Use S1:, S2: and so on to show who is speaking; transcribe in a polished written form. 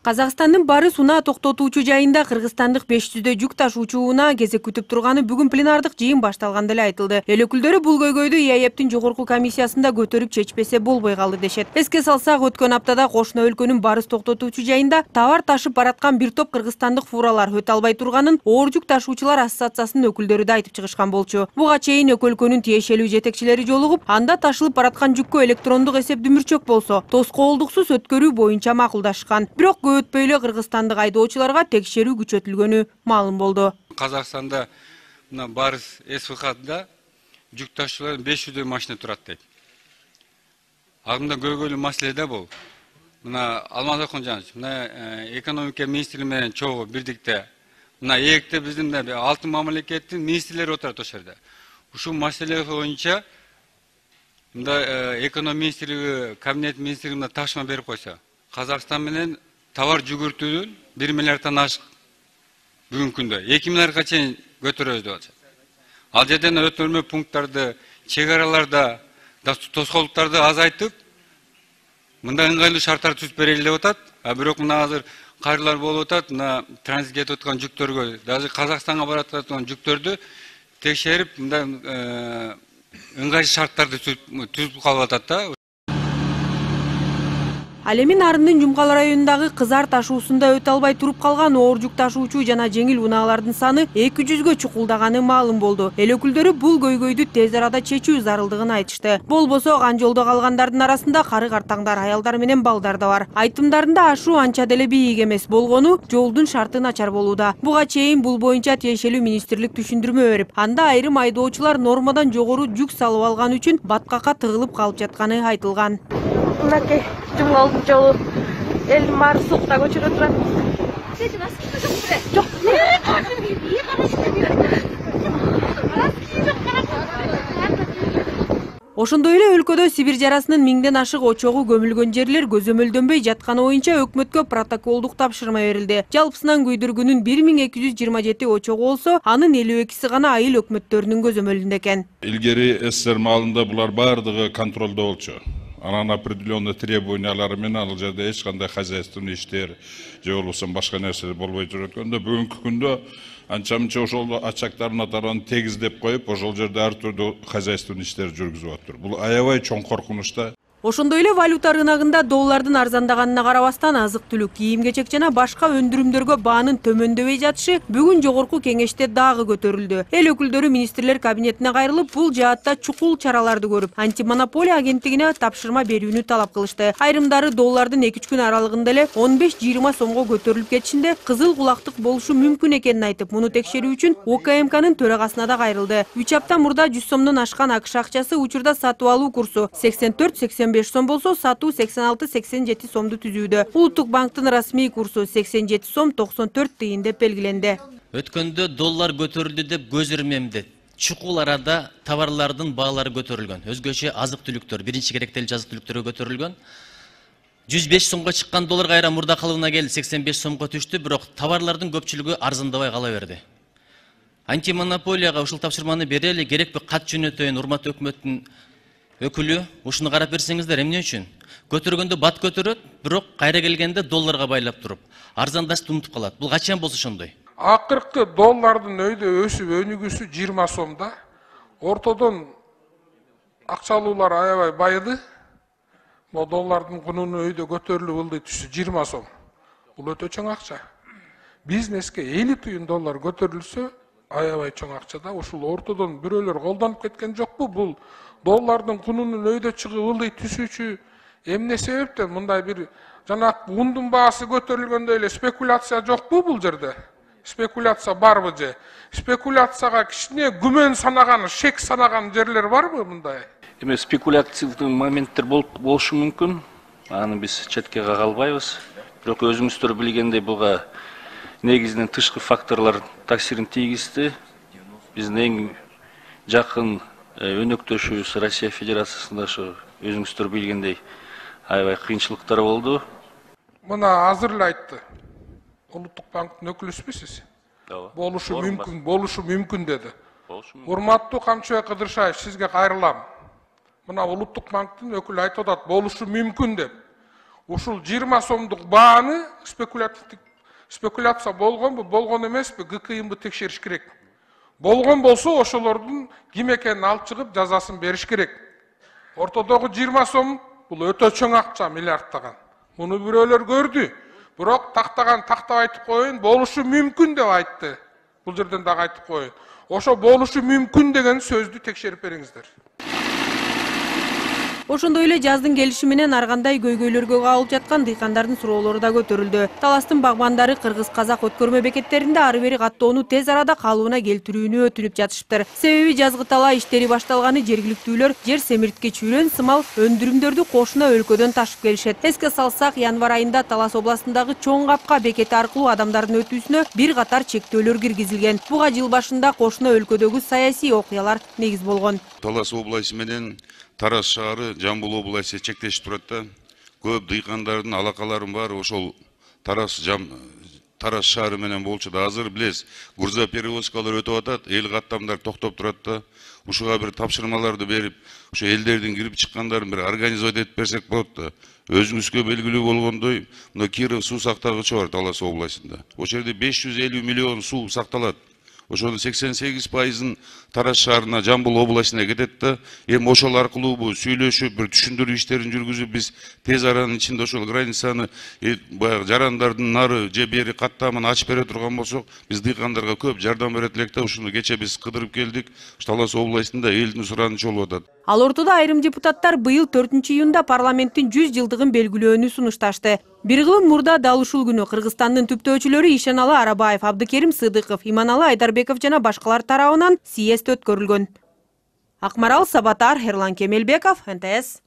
S1: Казакстандын Барыс унаа токтотуучу жайында кыргызстандык 500 жүк ташуучу унаа кезек күтүп турганы бүгүн пленардык жыйын башталганда эле айтылды. Эл өкүлдөрү бул көйгөйдү ИАЭБтин жогорку комиссиясында көтөрүп чечпесе болбой калды дешет. Эске салсак, өткөн аптада кошуна өлкөнүн барыс токтотуучу жайында товар ташып бараткан бир топ кыргызстандык фуралар өтө албай турганын оор жүк ташуучулар ассоциациясынын өкүлдөрү да айтып чыгышкан болчу. Буга чейин эки өлкөнүн тиешелүү жетекчилери жолугуп, анда ташылып бараткан жүккө электрондук эсеп дүмүрчөк болсо, тоскоолдуксуз өткөрүү боюнча макулдашкан. Бирок өтпөй эле кыргызстандык айдоочуларга текшерүү күчөтүлгөнү маалым болду.
S2: Казакстанда мына Барыс СВХда жүк ташуучулар 500 машина турат дейт. Агымда көйгөйлүү маселе да бул. Мына Алмаз Акунжанович, мына экономика министри менен чогуу бирдикте мына ээкте биздин алтын мамлекеттин министрлери отурат ошол жерде. Ушул маселе боюнча мында экономика министрлиги, кабинет министрлиги ташма берип койсо, Казакстан менен товар жүгүртүүнүн 1 миллиарддан ашык бүгүнкү күндө 2 миллиардга чейин көтөрөбүз деп атышат. Ал жерден өтөлмө пункттарды, чек-араларда тоскоолдуктарды азайтып, мындай ыңгайлуу шарттар түзүп берели деп атат. Бирок мына азыр кайрылар болуп атат, мына транзит кетип аткан жүктөргө, даже Казакстанга барып аткан жүктөрдү текшерип, мындай ыңгайлуу шарттарды түзүп калып атат да.
S1: Ал эми Нарындын Жумкал районундагы Кызар ташуусунда өтө албай туруп калган оор жүк ташуучу жана жеңил унаалардын саны 200гө чукулдаганы маалым болду. Эл өкүлдөрү бул көйгөйдү тез арада чечүү зарылдыгын айтышты. Болбосо кан жолдо калгандардын арасында кары картаңдар, аялдар менен балдар да бар. Айтымдарында ашуу анча деле бийик эмес болгону жолдун шарты начар болууда. Буга чейин бул боюнча тиешелүү министрлик түшүндүрмө берип, анда айрым айдоочулар нормадан жогору жүк салып алган үчүн баткакка тыгылып калып жатканы айтылган.
S3: Мынакей Жумгалдын жолу элдин баары сукта көчөрө турат. Жок.
S1: Ошондой эле өлкөдө Сибир жарасынын 1000ден ашык очогу көмүлгөн жерлер көзөмөлдөнбөй жатканы боюнча өкмөткө протоколдук тапшырма берилди. Жалпысынан күйдүргүнүн 1227 очогу болсо, анын 52си гана айыл өкмөттөрүнүн көзөмөлүндө экен.
S4: Илгери СССР маалында булар баардыгы контролдо болчу. Анан определенный требованиялары менен ал жерде эч кандай хозяйственный иштер же болбосо башка нерселер болбой жүрөткөндө бүгүнкү күндө анча-мынча ошол ачактардын атарын тегиздеп коюп, ошол жерде ар түрдүү хозяйственный иштер жүргүзүп атыр. Бул аябай чоң коркунуч да.
S1: Ошондой эле валюта рыногунда доллардын арзандаганына карабастан азык-түлүк, кийим-кечек жана башка өндүрүмдөргө баанын төмөндөбөй жатышы бүгүн жогорку кеңеште дагы көтөрүлдү. Эл өкүлдөрү министрлер кабинетине кайрылып, бул жаатта чукул чараларды көрүп, антимонополия агенттигине тапшырма берүүнү талап кылышты. Айрымдары доллардын 2-3 күн аралыгында эле 15-20 сомго көтөрүлүп кетишинде кызыл кулактык болушу мүмкүн экенин айтып, муну текшерүү үчүн УКМКнын төрагасына да кайрылды. 3 апта мурда 100 сомдон ашкан АКШ акчасы учурда сатып алуу курсу 84-85 сом болсо, сатуу 86-87 сомду түзүүдө. Улуттук банктын расмий курсу 87 сом 94 тыйын деп белгиленди.
S5: Өткөндө доллар көтөрүлдү деп көз ирмемди. Чукул арада товарлардын баалары көтөрүлгөн. Өзгөчө азык-түлүктөр, биринчи керектелүү азык-түлүктөргө көтөрүлгөн. 105 сомго чыккан доллар кайра мурда калыбына келди, 85 сомго түштү, бирок товарлардын көпчүлүгү арзандабай кала берди. Антимонополияга ушул тапшырманы берели, керекпи кат жөнөтөйүн, урматтуу өкмөттүн өкүлү, ушуну карап берсеңиздер, эмне үчүн? Көтөргөндө бат көтөрөт, бирок кайра келгенде долларга байлап туруп, арзандашты унутуп калат. Бул качан болсо ошондой?
S6: Акыркы доллардын өйдө өсүп өнүгүүсү 20 сомда. Ортодон акчалуулар аябай байыды. Бул доллардын кунунун өйдө көтөрүлүп ылдый түшү 20 сом. Бул өтө чоң акча. Бизнеске 50 тыйын доллар көтөрүлсө, аябай чоң акча да. Ушул ортодон бирөөлөр колдонуп кеткен жокпу? Бул доллардын кунунун өйдө чыгып ылдый түшүүчү эмне себептен мындай бир жана ундун баасы көтөрүлгөндө эле спекуляция жокпу бул жерде? Спекуляция барбы же? Спекуляцияга кичине күмөн санаган, шек санаган жерлер барбы мындай?
S7: Эми спекуляциялык моменттер болушу мүмкүн. Аны биз четке кагалбайбыз. Бирок өзүңүздөр билгендей буга негизинен тышкы факторлор таасирин тийгизди. Биздин эң жакын өнөктөшүбүз Россия Федерациясында ошо өзүңүздөр билгендей аябай кыйынчылыктар болду.
S6: Мына азыр эле айтты. Улуттук банктын өкүлүсүзбү сиз? Болушу мүмкүн деди. Урматтуу Камчыбек Кыдыршаев, сизге кайрылам. Мына Улуттук банктын өкүлү айтып атат, болушу мүмкүн деп. ушул 20 сомдук бааны спекуляция болгонбу, болгон эмеспи, ГКИМбы текшериш керек. Болгон болсо ошолордун ким экенин алып чыгып жазасын бериш керек. Ортодогу 20 сом бул өтө чоң акча, миллиардтаган. Муну бирөөлөр көрдү. Бирок тактап айтып коюн, болушу мүмкүн деп айтты. Бул жерден дагы айтып коюн. Ошо болушу мүмкүн деген сөздү текшерип бериңиздер.
S1: Ошондой эле жаздын келиши менен ар кандай көйгөйлөргө кабылып жаткан дыйкандардын суроолору да көтөрүлдү. Таластын багбандары кыргыз-казак өткөрмө бекеттеринде ары бери каттоону тез арада калыбына келтирүүнү өтүнүп жатышыптыр. Себеби жазгы талаа иштери башталганы жергиликтүүлөр жер семирткеч үрөн сымал өндүрүмдөрдү кошуна өлкөдөн ташып келишет. Эске салсак, январь айында Талас областындагы Чоң Капка бекети аркылуу адамдардын өтүүсүнө бир катар чектөөлөр киргизилген. Буга жыл башында кошуна өлкөдөгү саясий окуялар негиз болгон.
S8: Талас областы менен Тарас шаары Жамбыл областы чектешип турат да. Көп дыйкандардын алакаларын бар, ошол Тарас шаары менен болчу да. Азыр билесиз, груза перевозкалар өтүп атат, эл каттамдар токтоп турат да. Ушуга бир тапшырмаларды берип, ушу элдердин кирип чыккандарын бир организовать этип берсек болот да. Өзүңүзгө белгилүү болгондой, мына Киров суу сактагычы бар Талас областында. Ошол жерде 550 миллион суу сакталат. Ошонун 88%-ын Тарас шаарына, Жамбыл областына кетет да. Эми ошол аркылуу сүйлөшүп, бир түшүндүрүү иштерин жүргүзүп, биз тез аранын ичинде ошол границаны баягы жарандардын нары же бери каттамын ачып бере турган болсок, биз дыйкандарга көп жардам берет элек да. Ушуну кече биз кыдырып келдик. Талас областында элдин суранычы болуп атат.
S1: Ал ортодо айрым депутаттар быйыл 4-июнда парламенттин 100 жылдыгын белгилөөнү сунушташты. Бир кылым мурда дал ушул күнү Кыргызстандын түптөөчүлөрү Ишеналы Арабаев, Абдыкерим Сыдыков, Иманалы Айдарбеков жана башкалар тарабынан съезд өткөрүлгөн. Акмарал Сабатар, Ерлан Кемелбеков, НТС.